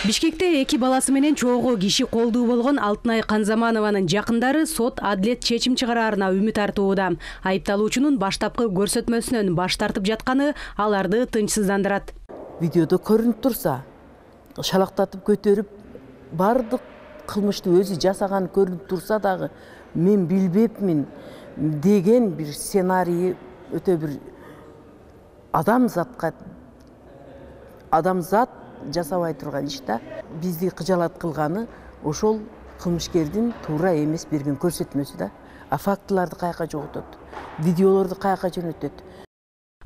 Бишкекте 2 баласы менен чогуу киши колдуу болгон Алтынай Канзаманованын жакындары сот адилет чечим чыгараарына үмүт артууда. Айыпталуучунун баштапкы көрсөтмөсүнөн баш тартып жатканы аларды тынчсыздандырат. Видеодо көрүнүп турса, шалактатып көтөрүп, бардык кылмышты өзү жасаган көрүнүп турса дагы, мен билбепмин деген бир сценарий өтө бир адамзат жасабай турган иш да. Бизди кыжалат кылганы ошол кылмышкердин туура эмес берген көрсөтмөсү да. А фактыларды каяка жоготот, видеолорду каяка жөнөтөт.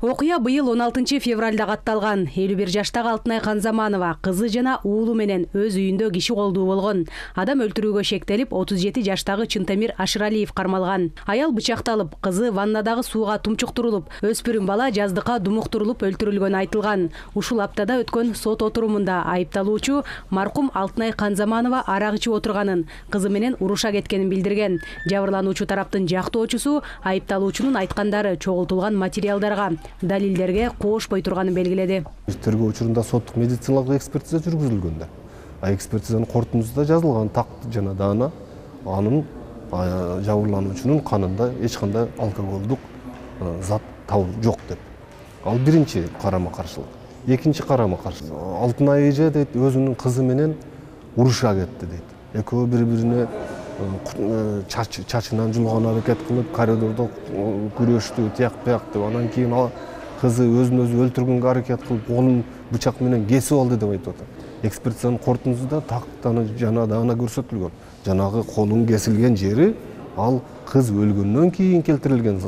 Окуя быйыл 16 февралда катталган. 51 жаштагы Алтынай Канзаманова кызы жана уулу менен өз үйүндө киши колдуу болгон. Адам өлтүрүүгө шектелип, 37 жаштагы Чынтемир Ашыралиев кармалган. Аял бычакталып, кызы ваннадагы сууга тумчуктурулуп, өспүрүм бала жаздыкка думуктурулуп өлтүрүлгөнү айтылган. Ушул аптада өткөн сот отурумунда айыпталуучу маркум Алтынай Канзаманова арак ичип отурганын, кызы менен уруша кеткенин билдирген. Жабырлануучу тараптын жактоочусу айыпталуучунун айткандары чогултулган материалдарга, далилдерге коошпой турганын белгиледи. Тергөө учурунда соттук медициналык экспертиза жүргүзүлгөн да. Экспертизанын корутундусунда жазылган такты жана даана анын жабырлануучунун канында эч кандай алкоголдук зат табылып жок деп. Ал биринчи карама-каршылык. Экинчи карама-каршылык. Алтынай эже дейт, өзүнүн кызы менен уруша кетти дейт. Экөө бири-бирине чачынан жулган аракет кылып, коридордо күрөштү, тияк-бияк деп. Анан кийин кызы өзүн өзү өлтүргөнгө аракет кылып, колун бычак менен кесип алды деп айтып атат. Экспертизанын корутундусунда тактаны жана даана көрсөтүлгөн. Жанагы колун кесилген жери ал кыз өлгөндөн кийин келтирилген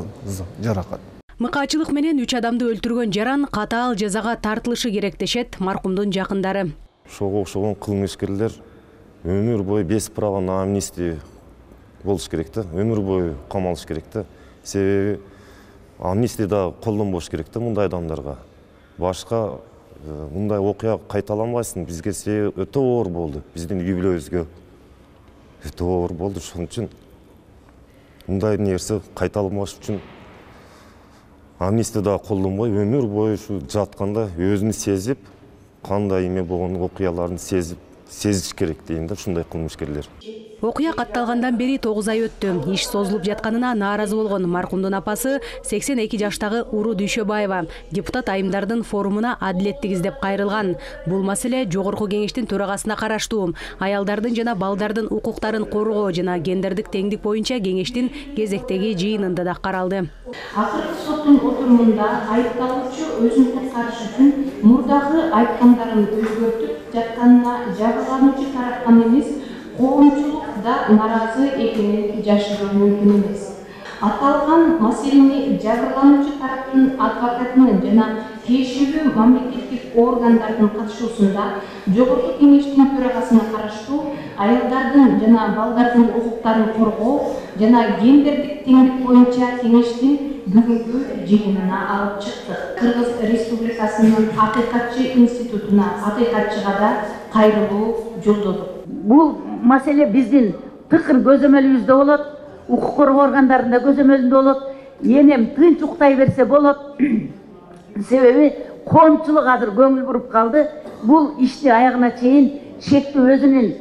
жаракат. Мыкаачылык менен 3 адамды өлтүргөн жаран катаал жазага тартылышы керек дешет маркумдун жакындары. Ошого окшогон кылмышкерлер өмүр бою без права на амнистия болуш керек да, өмүр бою камалыш керек да. Себеби амнистияда колдонбош керек да мындай адамдарга. Башка мындай окуя кайталанбайсың. Бизге себеби өтө оор болду. Биздин үй бүлөбүзгө өтө оор болду. Ошон үчүн мындай нерсе кайталанбаш үчүн амнистияда колдонбой, өмүр бою ушу жатканда өзүн сезип, кандай эме болгон окуяларын сезиш керек дейм да ушундай кылмышкерлер. Окуя катталгандан бери 9 ай өттү. Иш созулуп жатканына нааразы болгон маркумдун апасы 82 жаштагы Уру Дүйшөбаева депутат айымдардын форумуна адилеттик издеп кайрылган. Бул маселе жогорку кеңештин төрагасына караштуу. Аялдардын жана балдардын укуктарын коргоо жана гендердик теңдик боюнча кеңештин кезектеги жыйынында да каралды. Акыркы соттун отурумунда айыпталуучу өзүнүн каршы үчүн мурдагы айткандарын өзгөртүп жатканына жабырлануучу тараптан эмес, коомчулук да наразы экенин жашыруу мүмкүн эмес. Аталган маселени жабырлануучу тараптын адвокатынын жана тиешелүү мамлекеттик органдардын катышуусунда жогорку кеңештин төрагасына караштуу аялдардын жана балдардын укуктарын коргоо жана гендердик теңдик боюнча кеңештин бүгүнкү жыйынына алып чыктык. Кыргыз Республикасынын Акыйкатчы институтуна акыйкатчыга да кайрылуу жолдодук. Бул маселе биздин тыкыр көзөмөлүбүздө болот, укук коргоо органдарында көзөмөлүндө болот. Энем тынч уктай берсе болот. Себеби коомчулук азыр көңүл буруп калды. Бул ишти аягына чейин шектүү өзүнүн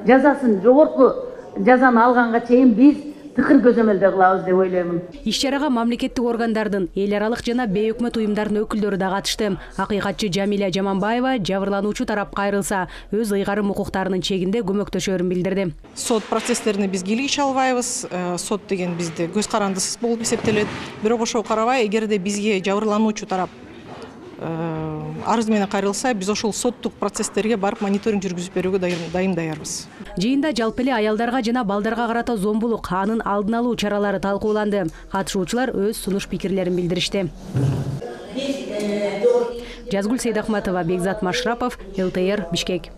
жазасын, жогорку жазаны алганга чейин биз тыкыр көзөмөлдө кылабыз деп ойлоймун. Иш чарага мамлекеттик органдардын, эл аралык жана бейөкмөт уюмдардын өкүлдөрү да катышты. Акыйкатчы Жамиля Жаманбаева жабырлануучу тарап кайрылса, өз ыйгарым укуктарынын чегинде көмөктөшөрүн билдирди. Сот процесстерине биз кийлигише албайбыз. Сот деген бизде көз карандысыз болуп эсептелет. Бирок ошого карабай, эгерде бизге жабырлануучу тарап арыз менен кайрылса, биз ошол соттук процесстерге барып мониторинг жүргүзүп берүүгө даярбыз. Жыйында жалпы эле аялдарга жана балдарга карата зомбулук, анын алдын алуу чаралары талкууланды. Катышуучулар өз сунуш пикирлерин билдиришти. Жазгүл Сейдахматова, Бекзат Машрапов, ЛТР, Бишкек.